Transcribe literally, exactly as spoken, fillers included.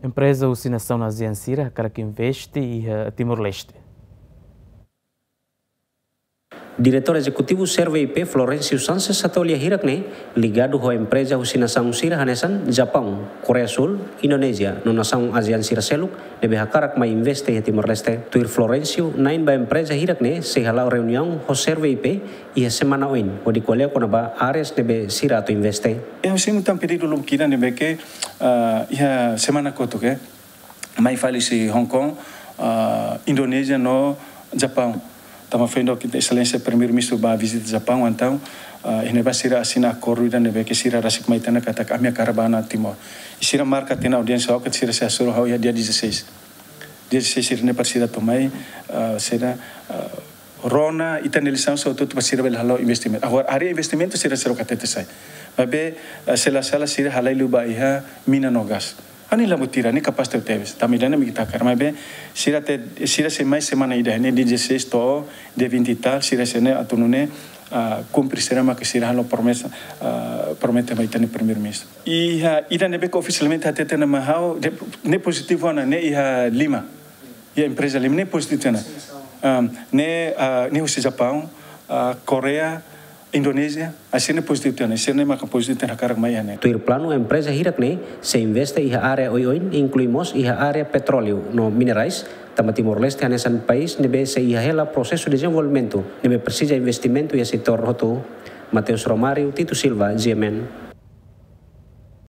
Empreza husi nasaun ASEAN sira hakarak investe iha Timor-Leste. Diretór Ezekutivu SERVIP, Florencio Sanches, hato'o lia hirak ne'e, ligadu ho empreza husi nasaun sira hanesan Japaun, Koreia Súl, Indonézia, no nasaun ASEAN sira seluk ne'ebé hakarak mai investe iha Timor-Leste. Tuir Florencio, na'in ba empreza hirak ne'e sei hala'o reuniaun ho SERVIP iha semana oin, hodi ko'alia kona-ba áreas ne'ebé sira atu investe. Iha husi mutan pedidu lubuk ida ne'ebé ke, ah, iha semana kotuk, eh, mai fali husi Hong Kong, ah, Indonézia no Japaun. Tanba foin dok Exelénsia Primeiru-Ministru bá vizita Japaun, entaun, ah, iha ne'ebá sira asina akordu ida ne'ebé ke sira rasik mai tiha ona katak ami hakarak bá ona Timor. I sira marka tiha ona audiénsia, oke, sira sei hasoru ha'u iha dia dezasseis. Dia dezasseis sira ne'e para sira atu mai, ah, sira, ah, rona ita-nia lisaun sira hotu-hotu para sira bele hala'o investimentu. Agora, área investimentu sira seidauk hatete sai. Maibé, ah, se la sala sira halai liu ba iha mina no gás. Ha'u-nia labutira, ne'e kapás tebes. Tanba ida-ne'e mak ita hakarak. Maibé, sira te, sira sei mai semana ida, ne'e dia dezasseis to'o dia vinte e tal, sira sei ne'e atu nune'e, ah, kumpre sira mak sira halo promesa, ah, promete mai ita-nia Primeiru-Ministru. Iha ida ne'ebé ke ofisialmente hatete ona mai ha'u, de, ne'e pozitivu ona, ne'e iha Lima. Iha empreza Lima, ne'e pozitivu ona. Ah, ne'e, ah, ne'e husi Japaun, ah, Koreia, Indonézia, ah, sira ne'e pozitivu ona, sira ne'e maka pozitivu ona hakarak mai iha ne'e. Tuir planu, empreza hirak ne'e sei investe iha área oioin, inklui mós iha área petróleu no minerais, tanba Timor-Leste hanesan país ne'ebé sei iha hela prosesu dezenvolvimentu ne'ebé presiza investimentu iha setór hotu. Mateus Romário, Tito Silva, G M N.